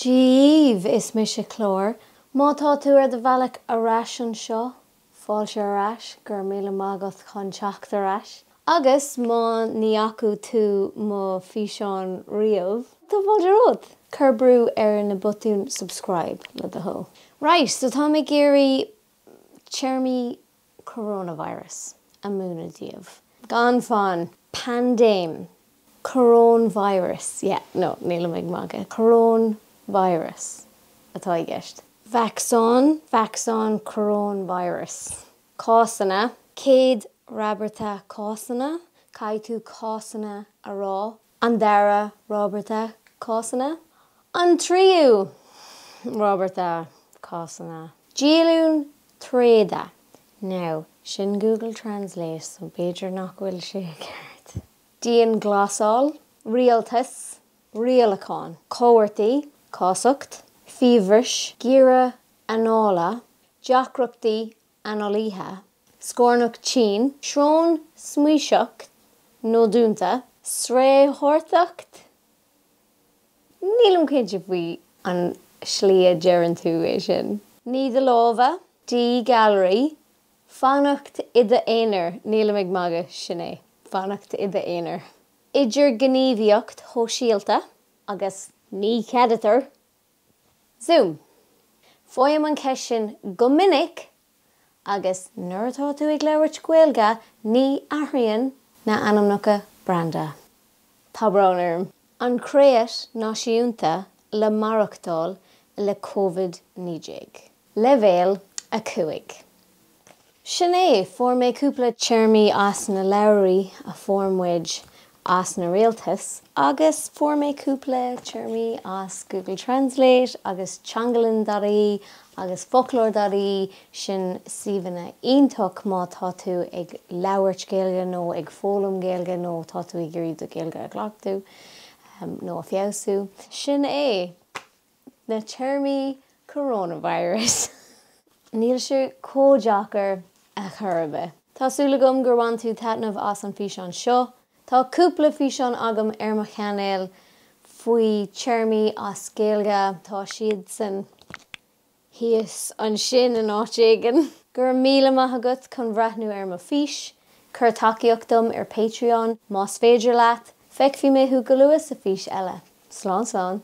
Dia dhaoibh, is mise Clár. Má tá tú ar do bhealach ar ais anseo, fáilte ar ais, go raibh míle maith agat chun teacht ar ais. Agus má ní fhaca tú mo físeán riamh, tá fáilte romhat! Cuir brú ar na botúin subscribe le do thoil. Right, so táim ag iarraidh téarmaí coronavirus a mhúineadh daoibh. Gan fonn. Paindéim. Coróinvirus. Yeah, no, nílim ag magadh. Coróinvirus atá i gceist. Vacsaín, vacsaín coróinvirus. Cásanna. Céad rabharta cásanna. Caithfidh tú cásanna a rá. An dara rabharta cásanna. An tríú rabharta cásanna. Díolúine tréada. Now, sin Google Translate so b'fhéidir nach bhfuil sé ceart. Dianghlasáil. Rialtas. Rialachán. Comharthaí. Cásacht. Fiabhras. Giorra anála. Deacrachtaí análaithe. Scornach tinn. Srón smaoiseach nó dúnta. Sraothartacht? Nílim cinnte faoi an slí a deireann tú é sin. Nigh do lámha. Díghalraí. Fanacht i d'aonar. Nílim ag magadh, sin é. Fanacht i d'aonar. Idirghníomhaíocht shóisialta agus ní cheadaítear Zoom. Faighim an cheist sin go minic agus nuair atá tú ag labhairt Gaeilge ní athraíonn na ainmneacha branda. Tá brón orm. An Creat Náisiúnta le Maireachtáil le Covid-19. Leibhéal 5. Sin é, fuair mé cúpla téarmaí as na leabhraí a fuair muid as na rialtas agus fuair mé cúpla téarmaí as Google Translate agus teangalann.ie agus foclóir.ie, sin suíomhanna iontach má tá tú ag labhairt Gaeilge nó ag foghlaim Gaeilge nó tá tú ag iarraidh do Ghaeilge a chleachtadh nó a feabhsú. Sin é! Na téarmaí coronavirus. Níl sé chomh deacair a chor ar bith. Tá súil agam gur bhain tú taitneamh as an físeán seo. Tá cúpla físeán agam ar mo chainéal faoi téarmaí as Gaeilge. Tá siadsan thíos ansin in áit éigin. Go raibh míle maith agat chun bhreathnú ar mo fís. Cuir tacaíocht dom ar Patreon más féidir leat. Feicfidh mé thú go luath sa fís eile. Slán slán.